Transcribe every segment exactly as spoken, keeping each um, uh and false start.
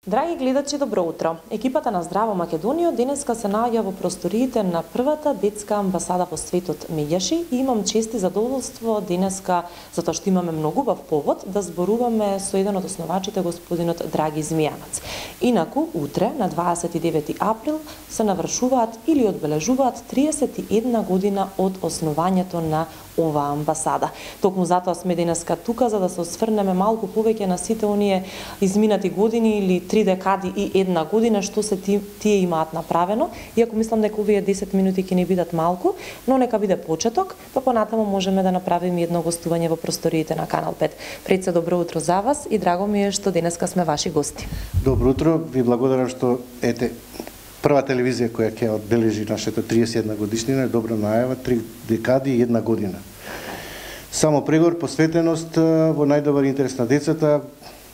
Драги гледачи, добро утро. Екипата на Здраво Македонија денеска се наоѓа во просториите на првата детска амбасада во светот Меѓаши и имам чест и задоволство денеска, затоа што имаме многу убав повод, да зборуваме со еден од основачите, господинот Драги Змијанац. Инаку, утре, на дваесет и девети април, се навршуваат или одбележуваат триесет и една година од основањето на оваа амбасада. Токму затоа сме денеска тука, за да се осврнеме малку повеќе на сите оние изминати години или три декади и една година што се ти, тие имаат направено. Иако мислам дека овие десет минути ќе ни бидат малку, но нека биде почеток, па понатаму можеме да направиме едно гостување во просториите на Канал пет. Пред се, добро утро за вас и драго ми е што денеска сме ваши гости. Добро утро, ви благодарам што ете прва телевизија која ќе одбележи нашата триесет и една годишнина е добра најава, три декади и една година. Само прегор, посветеност во најдобар интерес на децата.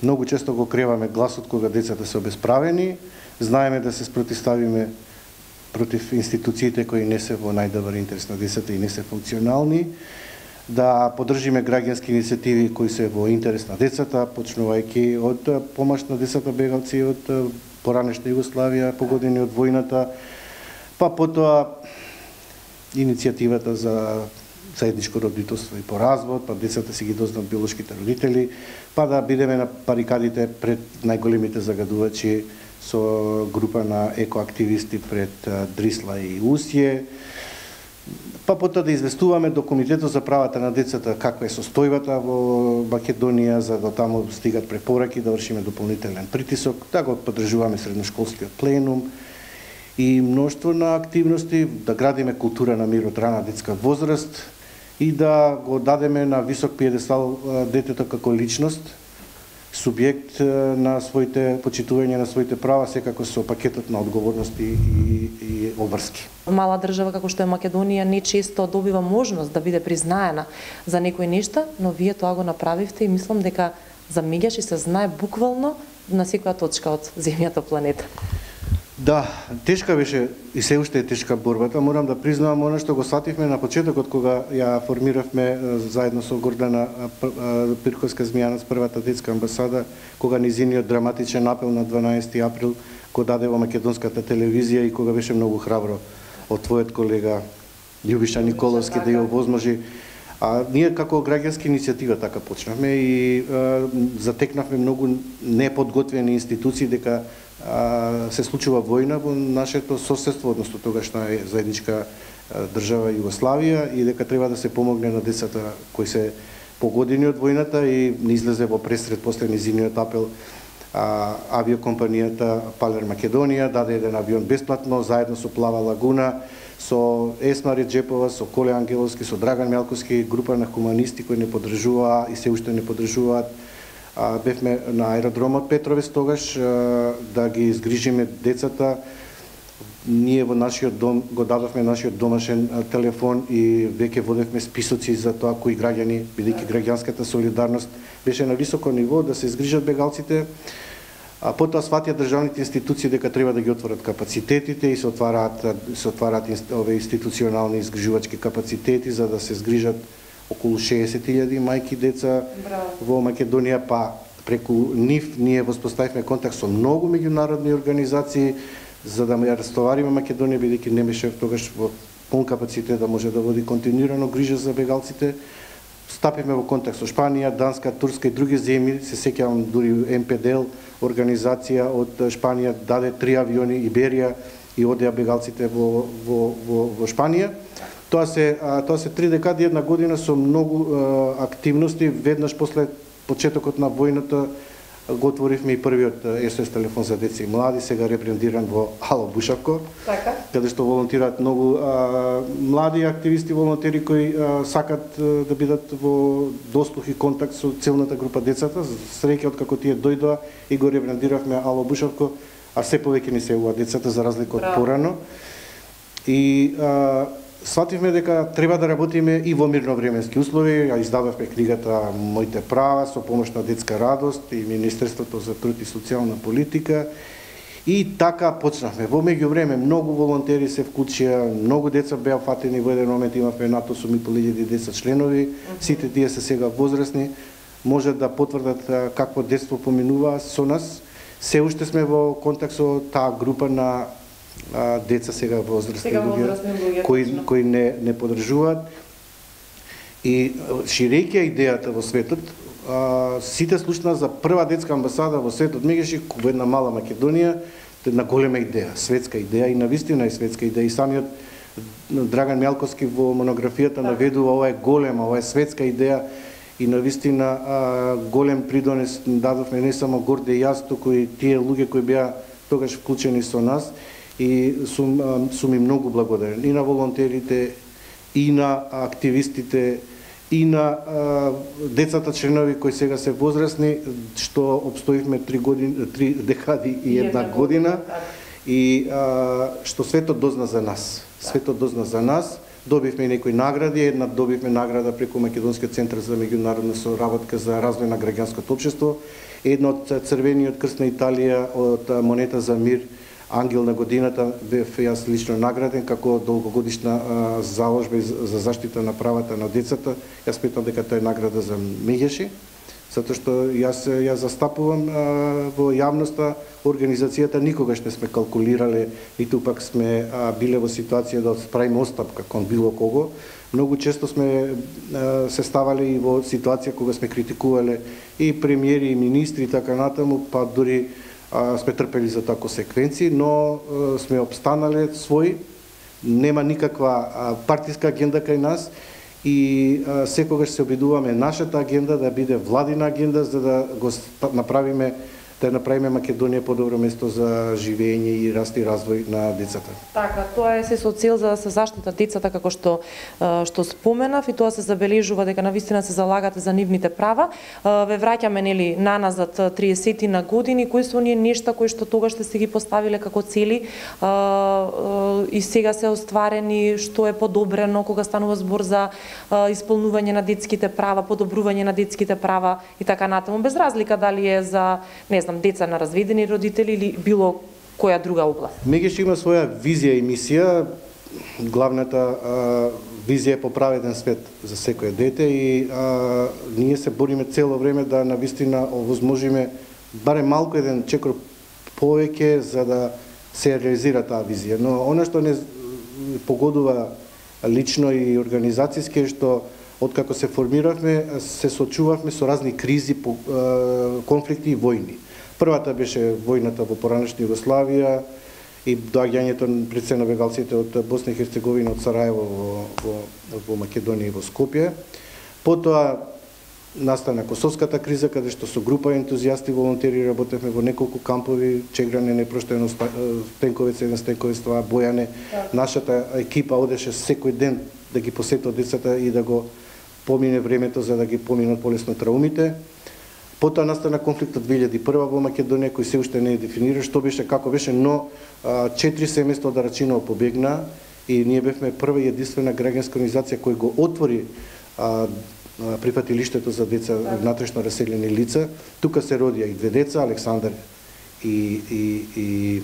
Многу често го креваме гласот кога децата се обесправени. Знаеме да се спротивставиме против институциите кои не се во најдобар интерес на децата и не се функционални. Да поддржиме граѓански иницијативи кои се во интерес на децата, почнувајќи од помош на децата бегалци од поранешна Југославија, погодени од војната, па потоа иницијативата за заедничко родителство и по развод, па децата си ги дознат биолошките родители, па да бидеме на барикадите пред најголемите загадувачи со група на екоактивисти пред Дрисла и Усје, па потоа да известуваме до Комитетот за правата на децата каква е состојбата во Македонија, за да таму стигат препораки, да вршиме дополнителен притисок, да го поддржуваме средношколскиот пленум и мноштво на активности, да градиме култура на мир од рана детска возраст и да го дадеме на висок пиедестал детето како личност, субјект на своите почитување на своите права, секако со пакетот на одговорности и, и обврски. Мала држава како што е Македонија не често добива можност да биде признаена за некои нешта, но вие тоа го направивте и мислам дека за Меѓаши се знае буквално на секоја точка од земјата планета. Да, тешка беше и се уште е тешка борбата. Морам да признавам она што го свативме на почетокот кога ја формиравме заедно со Гордана Пирковска Змијанац првата детска амбасада, кога низиниот драматичен апел на дванаесети април го даде во македонската телевизија и кога беше многу храбро од твојот колега Љубиша Николовски да ја овозможи. А ние како граѓанска иницијатива така почнавме и а, затекнавме многу неподготвени институции дека а, се случува војна во нашето соседство, односно тогашна е заедничка а, држава Југославија и дека треба да се помогне на децата кои се погодени од војната и не излезе во пресред после низиниот апел а, авиокомпанијата Палер Македонија даде еден авион бесплатно заедно со Плава лагуна, со Есма Реджепова, со Коле Ангеловски, со Драган Мелковски, група на хуманисти кои не поддржуваа и се уште не поддржуваат. А, бевме на аеродромот Петровец тогаш а, да ги изгрижиме децата. Ние во нашиот дом го дадовме нашиот домашен а, телефон и веќе водевме списоци за тоа кои граѓани, бидејќи граѓанската солидарност беше на високо ниво да се изгрижат бегалците. А потоа сватија државните институции дека треба да ги отворат капацитетите и се отвараат се отвараат овие институционални изгрижувачки капацитети за да се згрижат околу шеесет илјади мајки деца. Браво. Во Македонија, па преку нив ние воспоставивме контакт со многу меѓународни организации за да ја растовариме Македонија, бидејќи не беше тогаш во пун капацитет да може да води континуирано грижа за бегалците. Стапивме во контакт со Шпанија, Данска, Турска и други земји. Се сеќавам дури Ем Пе Д Ел организација од Шпанија даде три авиони Иберија и одеа бегалците во во во во Шпанија. Тоа се тоа се три декади една година со многу а, активности. Веднаш после почетокот на војната го отворивме и првиот Ес О Ес телефон за деца и млади, сега ребрендиран во Ало Бушавко. Така. Каде што волонтираат многу а, млади активисти, волонтери кои а, сакат а, да бидат во дослух и контакт со целната група децата. Среќа од како тие дојдоа и го ребрендиравме Ало Бушавко, а се повеќе ни се уа децата за разлика од порано. И а, свативме дека треба да работиме и во мирновременски услови. Ја издававме книгата Моите права со помош на Детска радост и Министерството за труд и социјална политика. И така почнавме. Во меѓувреме многу волонтери се вклучија, многу деца беа фатени, во еден момент имавме над осум и по илјади деца членови. Сите тие се сега возрастни, може да потврдат какво детство поминуваа со нас. Се уште сме во контакт со таа група на а, деца сега возрастни луѓе кои кои не не поддржуваат. И ширејќи идејата во светот, а, сите слушна за прва детска амбасада во светот, мегаше во една мала Македонија, една голема идеја, светска идеја и навистина е светска идеја. И самиот Драган Мјалковски во монографијата наведува ова е голема, ова е светска идеја и навистина а, голем придонес дадовме не само Горде и јас, туку и тие луѓе кои беа тогаш вклучени со нас и сум, а, сум им многу благодарен и на волонтерите, и на активистите, и на а, децата членови кои сега се возрастни, што обстоивме три години, три декади и една година, и а, што светот дозна за нас. Светот дозна за нас. Добивме некои награди, една добивме награда преку Македонскиот центар за меѓународна соработка за развој на граѓанското општество, една од Црвениот крст на Италија, од монета за мир, Ангел на годината, бев јас лично награден како долгогодишна а, заложба за заштита на правата на децата. Јас сметам дека тоа е награда за меѓеши, затоа што јас ја застапувам а, во јавноста, организацијата никогаш не сме калкулирале, ниту пак сме а, биле во ситуација да справиме остапка кон било кого. Многу често сме а, се ставале и во ситуација кога сме критикувале и премиери и министри и така натаму, па дури а, сме трпели за тако секвенци, но а, сме обстанале своји, нема никаква а, партиска агенда кај нас и а, секогаш се обидуваме нашата агенда да биде владина агенда за да го направиме да направиме Македонија подобро место за живење и раст и развој на децата. Така, тоа е се со цел за да се заштита децата како што што споменав и тоа се забележува дека навистина се залагате за нивните права. Ве враќаме нели наназад триесет на години, кои се оние нешта кои што тогаш сте си ги поставиле како цели и сега се остварени, што е подобрено кога станува збор за исполнување на детските права, подобрување на детските права и така натаму, без разлика дали е за, не знам, деца на разведени родители или било која друга област. Мегеш има своја визија и мисија. Главната а, визија е по праведен свет за секое дете и а, ние се бориме цело време да навистина овозможиме барем малку еден чекор повеќе за да се реализира таа визија. Но она што не погодува лично и организацијски е што откако се формиравме, се сочувавме со разни кризи, конфликти и војни. Првата беше војната во поранешна Југославија и доаѓањето пред се на бегалците од Босна и Херцеговина, од Сараево во, во, во Македонија и во Скопје. Потоа настана Косовската криза, каде што со група ентузијасти волонтери работевме во неколку кампови, Чегране, Непроштено, Стенковец, еден Стенковец, тоа Бојане. Нашата екипа одеше секој ден да ги посетува децата и да го помине времето за да ги поминат полесно траумите. Потоа настана конфликтот две илјади и прва во Македонија, кој се уште не е дефиниран што беше, како беше, но а, четири семејства од Рачиново побегна и ние бевме прва и единствена граѓанска организација која го отвори а, а, прифатилиштето за деца внатрешно раселени лица. Тука се родија и две деца, Александар и, и, и,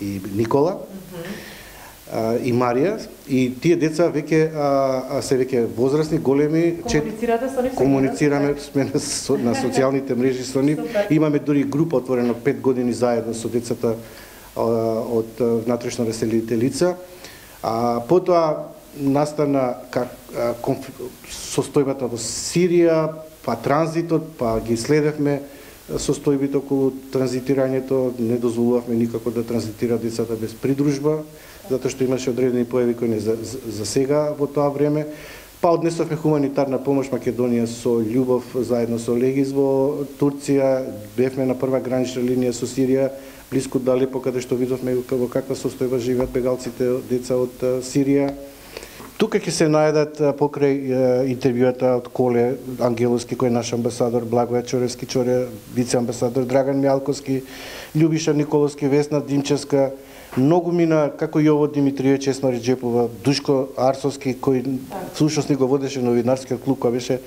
и Никола. Mm-hmm. и Марија, и тие деца веќе а, се веќе возрастни, големи. Комуницирате со нив? Комуницираме сме на, со, на социјалните мрежи со нив. Имаме дури група отворена пет години заедно со децата а, од внатрешно раселените лица. А потоа настана как а, конф... состојбата во Сирија, па транзитот, па ги следевме состојбите околу транзитирањето, не дозволувавме никако да транзитираат децата без придружба, затоа што имаше одредени појави кои не за, за, за сега во тоа време. Па однесовме хуманитарна помош Македонија со љубов заедно со Легис во Турција, бевме на прва гранична линија со Сирија, блиску до Алепо, каде што видовме во каква состојба живеат бегалците деца од Сирија. Тука ќе се најдат покрај интервјуата од Коле Ангеловски, кој е наш амбасадор, Благоја Чоревски Чоре, вице-амбасадор Драган Мјалковски, Љубиша Николовски, Весна Димчевска, многу мина, како Јово Димитриевич, Есма Реджепова, Душко Арсовски, кој всушност ни го водеше новинарскиот клуб, кој беше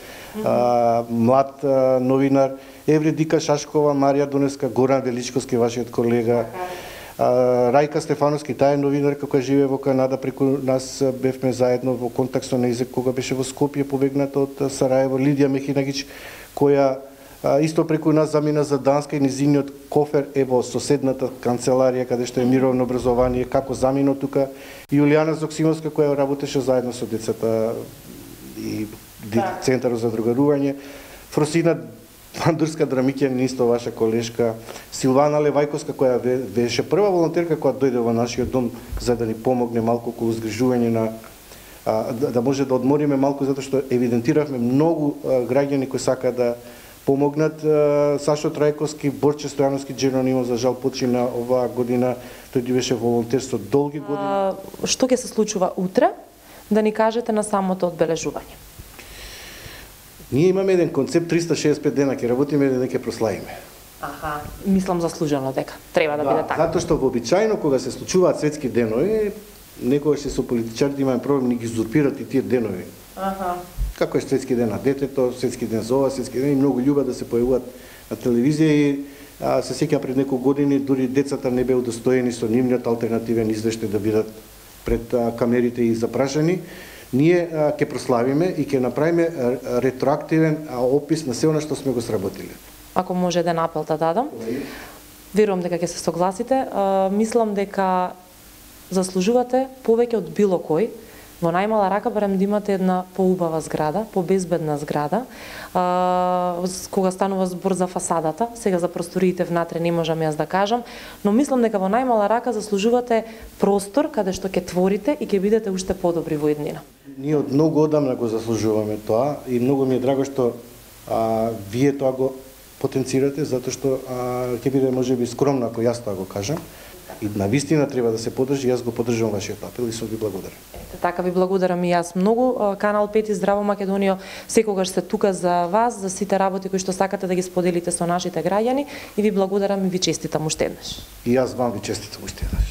а, млад а, новинар, Евредика Шашкова, Марија Донеска, Горан Величковски, вашиот колега, а, Рајка Стефановски, таа е новинарка која живее во Канада, преку нас бевме заедно во контакт со нејзе кога беше во Скопје, побегната од Сараево, Лидија Мехинагич, која А, исто преку нас замина за Данска и низиниот кофер е во соседната канцеларија каде што е мировно образование, како замино тука. И Јулијана Зоксимовска која работеше заедно со децата и Центарот за другарување. Фросина Пандурска Драмиќанин, исто ваша колешка. Силвана Левајковска која беше прва волонтерка која дојде во нашиот дом за да ни помогне малку околу згрижување на а, да, да може да одмориме малку затоа што евидентиравме многу а, граѓани кои сакаат да помогнат. Сашо Трајковски, Борче Стојановски Джеронимо за жал почина оваа година, тој беше волонтер со долги години. А, што ќе се случува утре? Да ни кажете на самото одбележување. Ние имаме еден концепт триста шеесет и пет дена, ќе работиме и ќе прославиме. Аха, мислам заслужено дека треба да, да биде така. Затоа што вообичаено кога се случуваат светски денови, некогаш со политичарите имаме проблем ни ги узурпират и тие денови. Аха. Како е светски ден на детето, светски ден за ова, светски ден и многу љубат да се појавуваат на телевизија и а, се сеќавам пред неколку години дури децата не беа удостоени со нивниот алтернативен извештај да бидат пред а, камерите и запрашани. Ние а, ќе прославиме и ќе направиме а, ретроактивен а, опис на се она што сме го сработиле. Ако може еден апел да дадам. Верувам дека ќе се согласите. А, мислам дека заслужувате повеќе од било кој. Во најмала рака барем да имате една поубава зграда, побезбедна зграда. А, кога станува збор за фасадата, сега за просториите внатре не можам јас да кажам, но мислам дека во најмала рака заслужувате простор каде што ќе творите и ќе бидете уште подобри во иднина. Ние од многу одамна го заслужуваме тоа и многу ми е драго што а, вие тоа го потенцирате, затоа што а, ќе биде можеби скромно ако јас тоа го кажам. И на вистина треба да се поддржи, јас го поддржувам вашиот апел и сум ви благодарен. Ете, така ви благодарам и јас многу. Канал пет и Здраво Македонија секогаш се тука за вас, за сите работи кои што сакате да ги споделите со нашите граѓани и ви благодарам и ви честитам уште еднаш. И јас вам ви честитам уште еднаш.